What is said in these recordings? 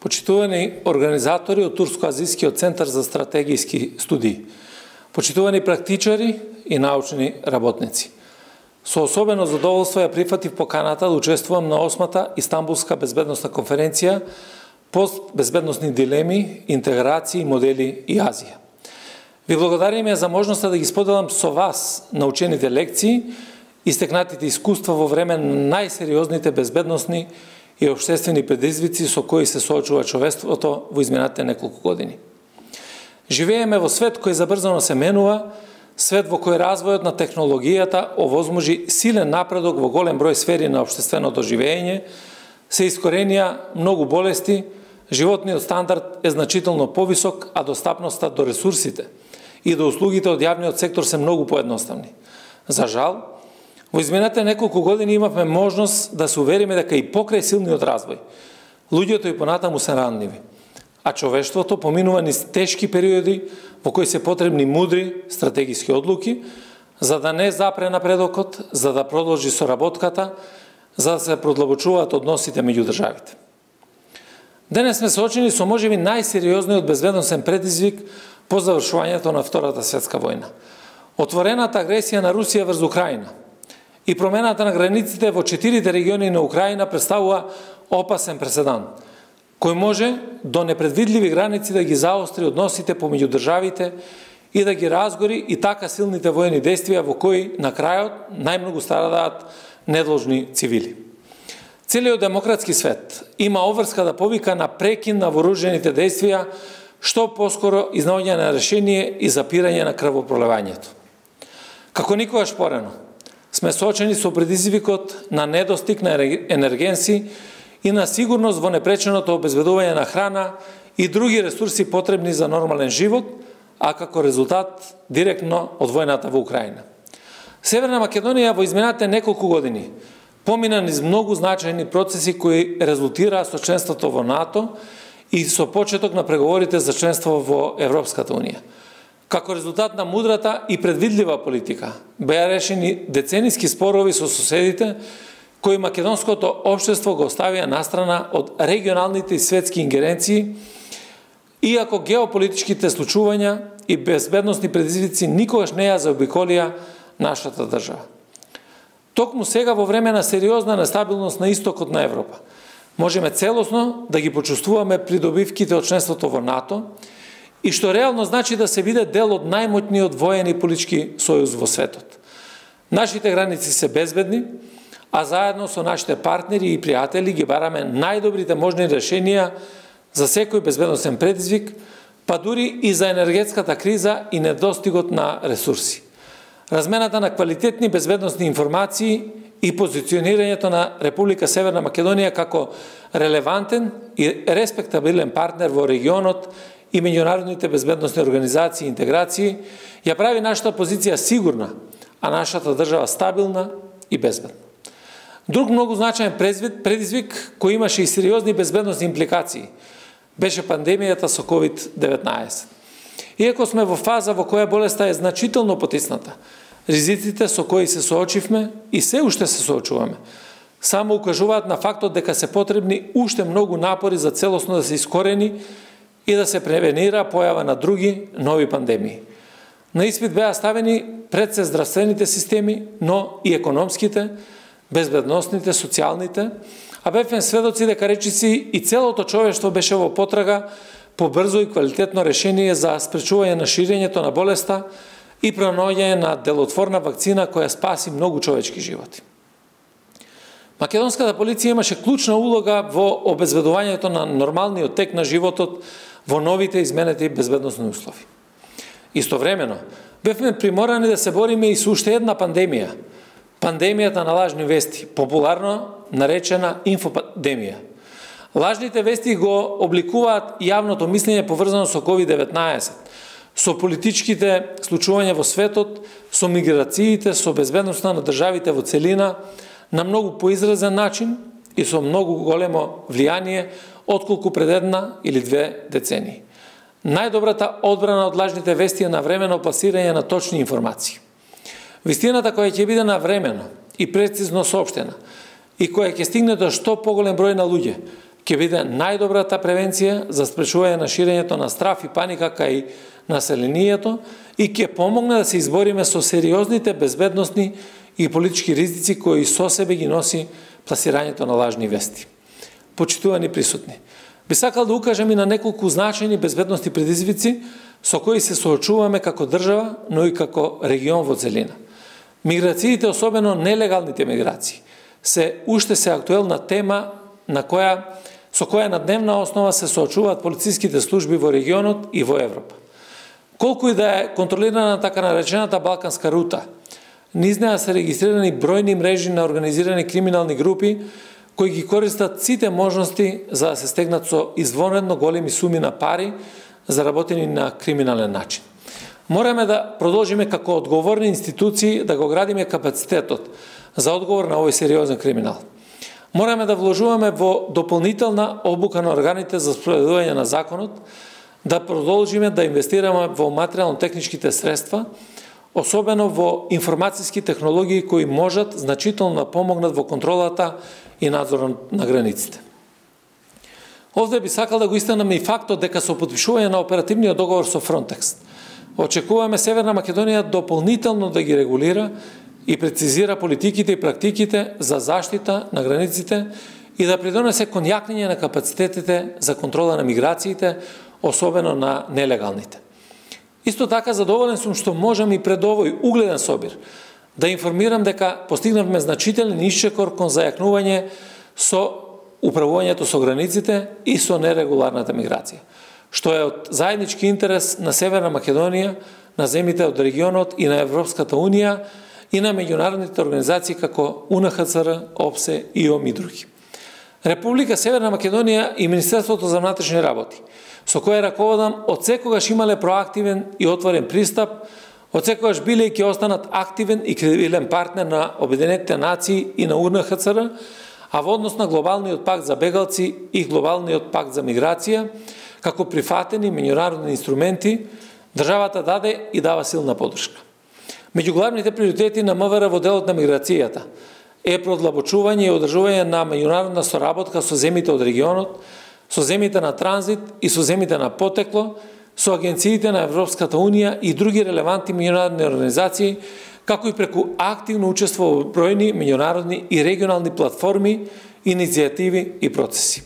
почитувани организатори од Турско-азискиот центар за стратегиски студии, почитувани практичари и научни работници. Со особено задоволство ја прифатив поканата да учествувам на 8-та Истанбулска безбедносна конференција Постбезбедносни дилеми, интеграции, модели и Азија. Ви благодарим за можноста да ги споделам со вас научените лекции и стекнатите искуства во време на најсериозните безбедносни и општествени предизвици со кои се соочува човештвото во изминатите неколку години. Живееме во свет кој забрзано се менува, свет во кој развојот на технологијата овозможи силен напредок во голем број сфери на општественото живење, се искоренија многу болести, животниот стандард е значително повисок, а достапноста до ресурсите и до услугите од јавниот сектор се многу поедноставни. За жал, во изминатите неколку години имавме можност да се увериме дека и покрај силниот развој, луѓето и понатаму се ранливи, а човештвото поминува низ тешки периоди во кои се потребни мудри стратегиски одлуки, за да не запре напредокот, за да продолжи соработката, за да се продлабочуваат односите меѓу државите. Денес сме соочени со можеби најсериозниот безбедносен предизвик по завршувањето на Втората светска војна. Отворената агресија на Русија врз Украина и промената на границите во 4 региони на Украина представува опасен преседан, кој може до непредвидливи граници да ги заостри односите помеѓу државите и да ги разгори и така силните војни действија во кои на крајот најмногу страдаат недложни цивили. Целиот демократски свет има обврска да повика на прекин на вооружените действија, што поскоро изнаоѓање на решение и запирање на крвопролевањето. Како никогаш порано, сме соочени со предизвикот на недостиг на енергенси и на сигурност во непреченото обезбедување на храна и други ресурси потребни за нормален живот, а како резултат директно од војната во Украина. Северна Македонија во изминатите неколку години помина низ многу значајни процеси кои резултираа со членството во НАТО и со почеток на преговорите за членство во Европската унија. Како резултат на мудрата и предвидлива политика беа решени децениски спорови со соседите кои македонското општество го оставија настрана од регионалните и светски ингеренции, иако геополитичките случувања и безбедносни предизвици никогаш не ја заобиколија нашата држава. Токму сега во време на сериозна нестабилност на истокот на Европа, можеме целосно да ги почувствуваме придобивките од членството во НАТО и што реално значи да се биде дел од најмоćниот воен и политички сојуз во светот. Нашите граници се безбедни, а заедно со нашите партнери и пријатели ги бараме најдобрите можни решенија за секој безбедносен предизвик, па дури и за енергетската криза и недостигот на ресурси. Размената на квалитетни безбедносни информации и позиционирањето на Република Северна Македонија како релевантен и респектабилен партнер во регионот и меѓународните безбедносни организации и интеграции ја прави нашата позиција сигурна, а нашата држава стабилна и безбедна. Друг многу значаен предизвик кој имаше и сериозни безбедносни импликации беше пандемијата со COVID-19. Иако сме во фаза во која болеста е значително потисната, ризиците со кои се соочивме и се уште се соочуваме, само укажуваат на фактот дека се потребни уште многу напори за целосно да се искорени и да се превенира појава на други нови пандемии. На испит беа ставени пред се здравствените системи, но и економските, безбедносните, социјалните, а бевме сведоци дека речиси и целото човештво беше во потрага по брзо и квалитетно решение за спречување на ширењето на болеста и пронаоѓање на делотворна вакцина која спаси многу човечки животи. Македонската полиција имаше клучна улога во обезбедувањето на нормалниот тек на животот во новите изменети безбедносни услови. Истовремено, бевме приморани да се бориме и со уште една пандемија, пандемијата на лажни вести, популарно наречена инфопандемија. Лажните вести го обликуваат јавното мислење поврзано со COVID-19, со политичките случувања во светот, со миграциите, со безбедноста на државите во целина, на многу поизразен начин и со многу големо влијание, отколку пред една или две децении. Најдобрата одбрана од лажните вести е навремено пласирање на точни информации. Вистината која ќе биде навремено и прецизно соопштена и која ќе стигне до што поголем број на луѓе, ќе биде најдобрата превенција за спречување на ширењето на страф и паника кај населението и ќе помогне да се избориме со сериозните безбедносни и политички ризици кои со себе ги носи пласирањето на лажни вести. Почитувани присутни, би сакал да укажем и на неколку значајни безбедности предизвици со кои се соочуваме како држава, но и како регион во целина. Миграциите, особено нелегалните миграции, уште се актуелна тема со која на дневна основа се соочуваат полициските служби во регионот и во Европа. Колку и да е контролирана така наречената Балканска рута, низ неа се регистрирани бројни мрежи на организирани криминални групи кои ги користат сите можности за да се стегнат со извонредно големи суми на пари заработени на криминален начин. Мораме да продолжиме како одговорни институции да го градиме капацитетот за одговор на овој сериозен криминал. Мораме да вложуваме во дополнителна обука на органите за спроведување на законот, да продолжиме да инвестираме во материјално-техничките средства, особено во информацијски технологии кои можат значително да помогнат во контролата и надзорот на границите. Овде би сакал да го истакнам и фактот дека со потпишување на оперативниот договор со Frontex очекуваме Северна Македонија дополнително да ги регулира и прецизира политиките и практиките за заштита на границите и да придонесе кон јакнење на капацитетите за контрола на миграциите, особено на нелегалните. Исто така задоволен сум што можам и пред овој угледен собир да информирам дека постигнавме значителен исчекор кон зајакнување со управувањето со границите и со нерегуларната миграција, што е од заеднички интерес на Северна Македонија, на земјите од регионот и на Европската Унија и на меѓународните организации како УНХЦР, ОПСЕ, ИОМ и други. Република Северна Македонија и Министерството за внатрешни работи, со кое раководам, одсекогаш имале проактивен и отворен пристап, одсекогаш биле и ќе останат активен и кредибилен партнер на Обединетите нации и на УНХЦР, а во однос на Глобалниот пакт за бегалци и Глобалниот пакт за миграција, како прифатени меѓународни инструменти, државата даде и дава силна поддршка. Меѓу главните приоритети на МВР во делот на миграцијата е продлабочување и одржување на меѓународна соработка со земјите од регионот, со земјите на транзит и со земјите на потекло, со агенциите на Европската Унија и други релевантни меѓународни организации, како и преку активно учество во бројни меѓународни и регионални платформи, иницијативи и процеси.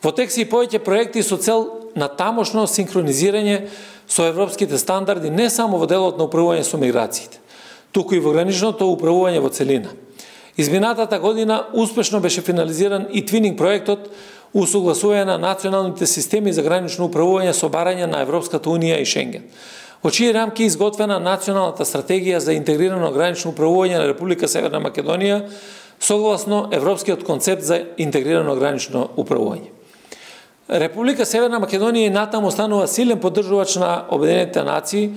Во тек се и повеќе проекти со цел на тамошно синхронизирање со европските стандарди не само во делот на управување со миграциите, туку и во граничното управување во целина. Изминатата година успешно беше финализиран и твининг проектот усогласување на националните системи за гранично управување со барање на Европската Унија и Шенген, во чии рамки изготвена националната стратегија за интегрирано гранично управување на Република Северна Македонија согласно Европскиот концепт за интегрирано гранично управување. Република Северна Македонија и натаму останува силен поддржувач на Обединетите нации,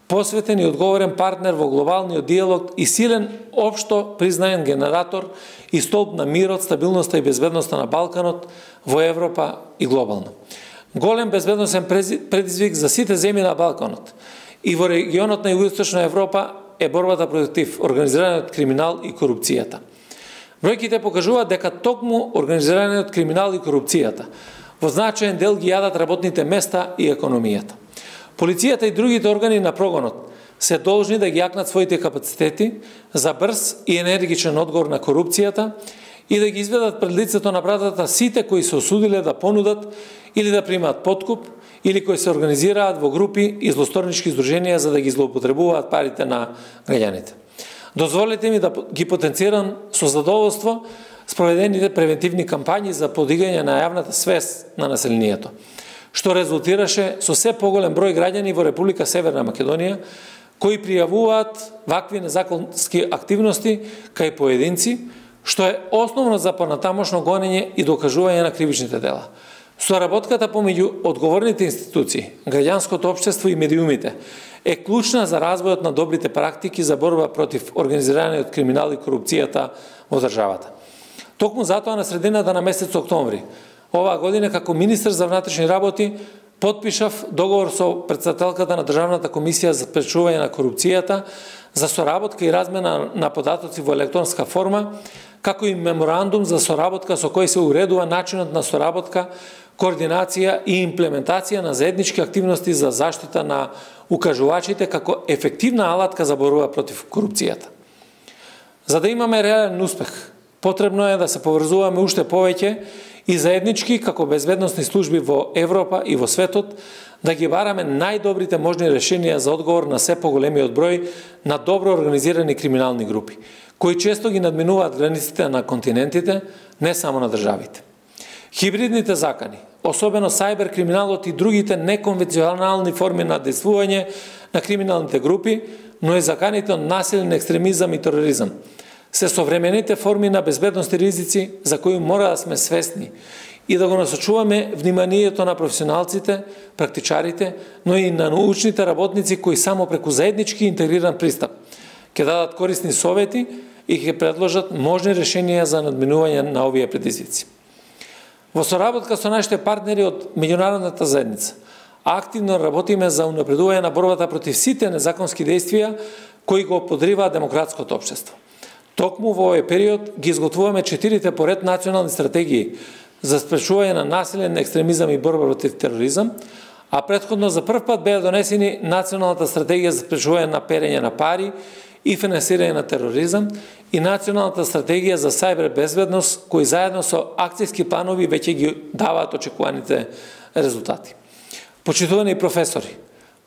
посветен и одговорен партнер во глобалниот диалог и силен општо признаен генератор и столб на мирот, стабилноста и безбедноста на Балканот, во Европа и глобално. Голем безбедносен предизвик за сите земји на Балканот и во регионот на Југоисточна Европа е борбата против организираниот криминал и корупцијата. Бројките покажуваат дека токму организираниот криминал и корупцијата во значаен дел ги јадат работните места и економијата. Полицијата и другите органи на прогонот се должни да ги јакнат своите капацитети за брз и енергичен одговор на корупцијата и да ги изведат пред лицето на правдата сите кои се осудиле да понудат или да примаат подкуп, или кои се организираат во групи и злосторнички здруженија за да ги злоупотребуваат парите на граѓаните. Дозволете ми да ги потенцирам со задоволство спроведените превентивни кампањи за подигање на јавната свест на населението, што резултираше со се поголем број граѓани во Република Северна Македонија кои пријавуваат вакви незаконски активности кај поединци, што е основно за понатамошно гонење и докажување на кривичните дела. Соработката помеѓу одговорните институции, граѓанското општество и медиумите е клучна за развојот на добрите практики за борба против организираниот криминал и корупцијата во државата. Токму затоа на средината на месец октомври оваа година како министер за внатрешни работи потпишав договор со претседателката на Државната комисија за спречување на корупцијата за соработка и размена на податоци во електронска форма, како и меморандум за соработка со кој се уредува начинот на соработка, координација и имплементација на заеднички активности за заштита на укажувачите како ефективна алатка за борба против корупцијата. За да имаме реален успех, потребно е да се поврзуваме уште повеќе и заеднички како безбедносни служби во Европа и во светот, да ги бараме најдобрите можни решенија за одговор на се поголемиот број на добро организирани криминални групи, кои често ги надминуваат границите на континентите, не само на државите. Хибридните закани, особено сајбер криминалот и другите неконвенционални форми на действување на криминалните групи, но и заканите од насилен екстремизам и тероризам, се современите форми на безбедности ризици за кои мора да сме свесни и да го насочуваме вниманието на професионалците, практичарите, но и на научните работници кои само преку заеднички интегриран пристап ќе дадат корисни совети и ќе предложат можни решенија за надминување на овие предизвици. Во соработка со нашите партнери од меѓународната заедница, активно работиме за унапредување на борбата против сите незаконски действија кои го подриваат демократското општество. Токму во овој период ги изготвуваме 4 поред национални стратегии за спречување на насилен екстремизам и борба против тероризам, а претходно за прв пат беа донесени Националната стратегија за спречување на перење на пари и финансирање на тероризам и Националната стратегија за сајбер безбедност, кои заедно со акцијски планови веќе ги даваат очекуваните резултати. Почитувани професори,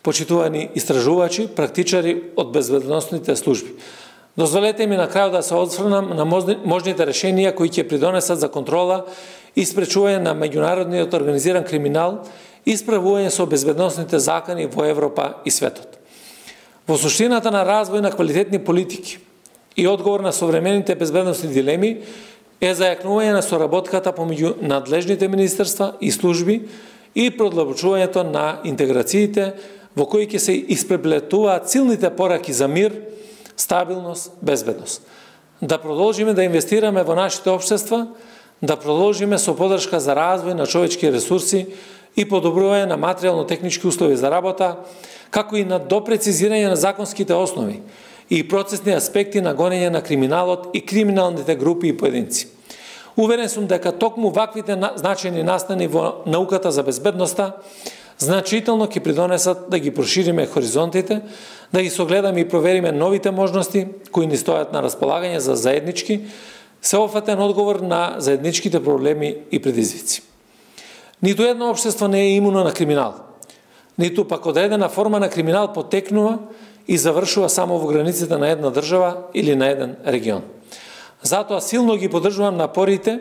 почитувани истражувачи, практичари од безбедносните служби, дозволете ми на крајот да се осврнам на можните решенија кои ќе придонесат за контрола и спречување на меѓународниот организиран криминал и справување со безбедносните закани во Европа и светот. Во суштината на развој на квалитетни политики и одговор на современите безбедносни дилеми е зајакнување на соработката помеѓу надлежните министерства и служби и продлабочувањето на интеграциите во кои ќе се испреплетуваат силните пораки за мир, стабилност, безбедност. Да продолжиме да инвестираме во нашите општества, да продолжиме со поддршка за развој на човечки ресурси и подобрување на материјално-технички услови за работа, како и на допрецизирање на законските основи и процесни аспекти на гонење на криминалот и криминалните групи и поединци. Уверен сум дека токму ваквите значајни настани во науката за безбедноста значително ќе придонесат да ги прошириме хоризонтите, да ги согледаме и провериме новите можности кои ни стојат на располагање за заеднички, сеопфатен одговор на заедничките проблеми и предизвици. Ниту едно општество не е имуно на криминал, ниту пак одредена форма на криминал потекнува и завршува само во границите на една држава или на еден регион. Затоа силно ги поддржувам напорите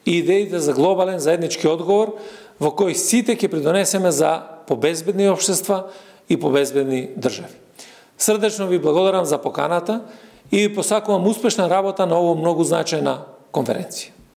и идеите за глобален заеднички одговор во кој сите ќе придонесеме за побезбедни општества и побезбедни држави. Срдечно ви благодарам за поканата и ви посакувам успешна работа на оваа многу значајна конференција.